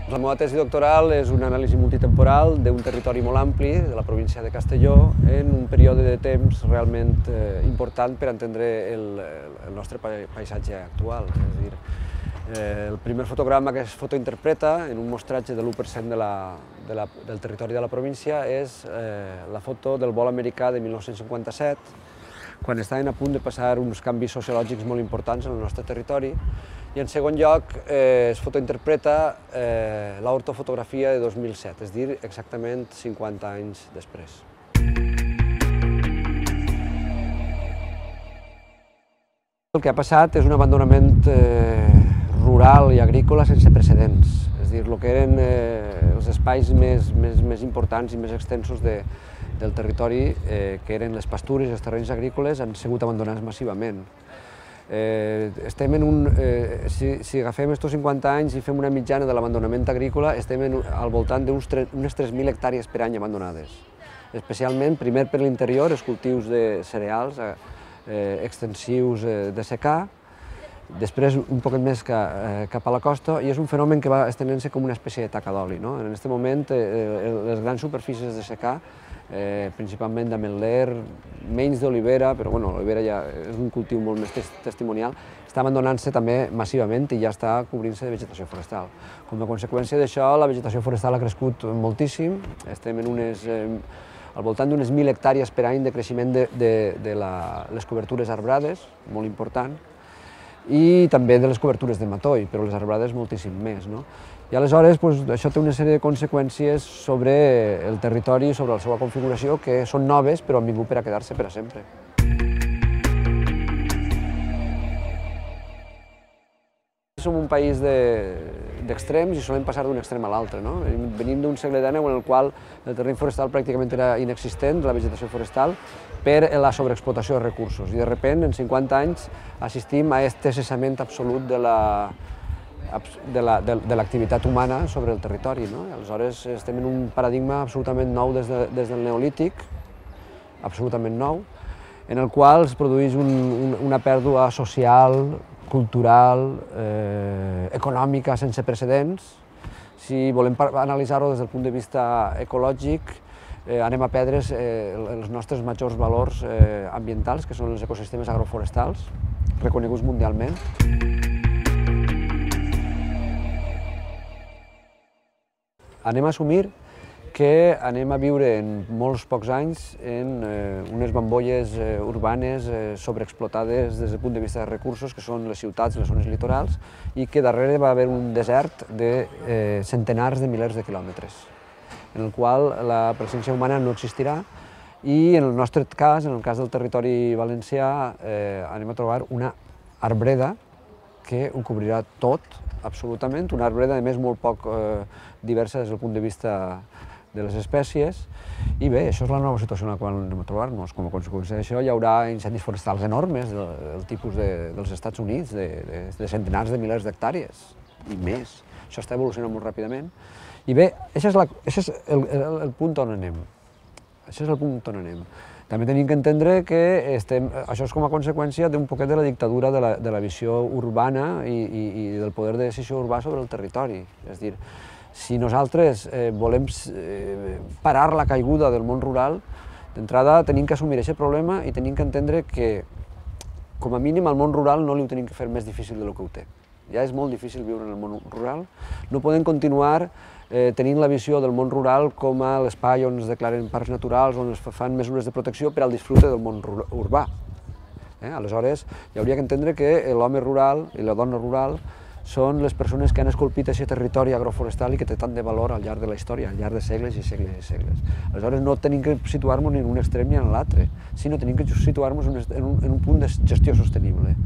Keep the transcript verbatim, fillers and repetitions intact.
La meva tesi doctoral és una anàlisi multitemporal d'un territori molt ampli, de la província de Castelló, en un període de temps realment eh, important per entendre el, el nostre paisatge actual. És a dir, eh, el primer fotograma que es fotointerpreta en un mostratge de l'u per cent de la, de la, del territori de la província és eh, la foto del vol americà de mil nou-cents cinquanta-set, quan estaven a punt de passar uns canvis sociològics molt importants en el nostre territori, i en segon lloc eh, es fotointerpreta eh, l'ortofotografia de dos mil set, és a dir, exactament cinquanta anys després. El que ha passat és un abandonament eh, rural i agrícola sense precedents, és a dir, el que eren eh, els espais més, més, més importants i més extensos de, del territori, eh, que eren les pastures i els terrenys agrícoles, han sigut abandonats massivament. Eh, estem en un, eh, si, si agafem estos cinquanta anys i fem una mitjana de l'abandonament agrícola, estem en, al voltant d'unes tres mil hectàrees per any abandonades. Especialment, primer per l'interior, els cultius de cereals eh, extensius eh, de secà, després un poc més que, eh, cap a la costa, i és un fenomen que va estenent-se com una espècie de taca d'oli, no? En aquest moment, eh, les grans superfícies de secà, Eh, principalment d'ametler, menys d'olivera, però bueno, l'olivera ja és un cultiu molt més testimonial, està abandonant-se també massivament i ja està cobrint-se de vegetació forestal. Com a conseqüència d'això, la vegetació forestal ha crescut moltíssim, estem en unes, eh, al voltant d'unes mil hectàrees per any de creixement de, de, de la, les cobertures arbrades, molt important, i també de les cobertures de matoll, però les arbrades moltíssim més, no? I aleshores doncs, això té una sèrie de conseqüències sobre el territori i sobre la seva configuració que són noves però han vingut per a quedar-se per a sempre. Som un país d'extrems i solem passar d'un extrem a l'altre, no? Venim d'un segle dènou en el qual el terreny forestal pràcticament era inexistent, la vegetació forestal, per la sobreexplotació de recursos. I de sobte, en cinquanta anys, assistim a aquest cessament absolut de la de l'activitat humana sobre el territori. No? Aleshores, estem en un paradigma absolutament nou des, de, des del Neolític, absolutament nou, en el qual es produeix un, un, una pèrdua social, cultural, eh, econòmica sense precedents. Si volem analitzar-ho des del punt de vista ecològic, eh, anem a perdre eh, els nostres majors valors eh, ambientals, que són els ecosistemes agroforestals, reconeguts mundialment. Anem a assumir que anem a viure en molts pocs anys en eh, unes bombolles eh, urbanes eh, sobreexplotades des del punt de vista de recursos, que són les ciutats, les zones litorals, i que darrere va haver un desert de eh, centenars de milers de quilòmetres, en el qual la presència humana no existirà, i en el nostre cas, en el cas del territori valencià, eh, anem a trobar una arbreda que ho cobrirà tot, absolutament, una arbreda, a més, molt poc eh, diversa des del punt de vista de les espècies, i bé, això és la nova situació en la qual anem a trobar-nos. Com a conseqüència d'això hi haurà incendis forestals enormes del, del tipus de, dels Estats Units, de, de, de centenars de milers d'hectàrees, i més. Això està evolucionant molt ràpidament. I bé, això és, la, això és el, el, el punt on anem. Això és el punt on anem. També tenim que entendre que estem, això és com a conseqüència d'un poquet de la dictadura de la, de la visió urbana i, i, i del poder de decisió urbà sobre el territori. És a dir, si nosaltres eh, volem eh, parar la caiguda del món rural, d'entrada tenim que assumir aquest problema i tenim que entendre que, com a mínim, al món rural no li ho tenim que fer més difícil del que ho té. Ja és molt difícil viure en el món rural. No podem continuar eh, tenint la visió del món rural com a l'espai on es declaren parcs naturals, on es fan mesures de protecció per al disfrute del món urbà. Eh? Aleshores, hi hauria que entendre que l'home rural i la dona rural són les persones que han esculpit aquest territori agroforestal i que té tant de valor al llarg de la història, al llarg de segles i segles i segles. Aleshores, no tenim que situar-nos ni en un extrem ni en l'altre, sinó tenim que situar-nos en un, en un punt de gestió sostenible.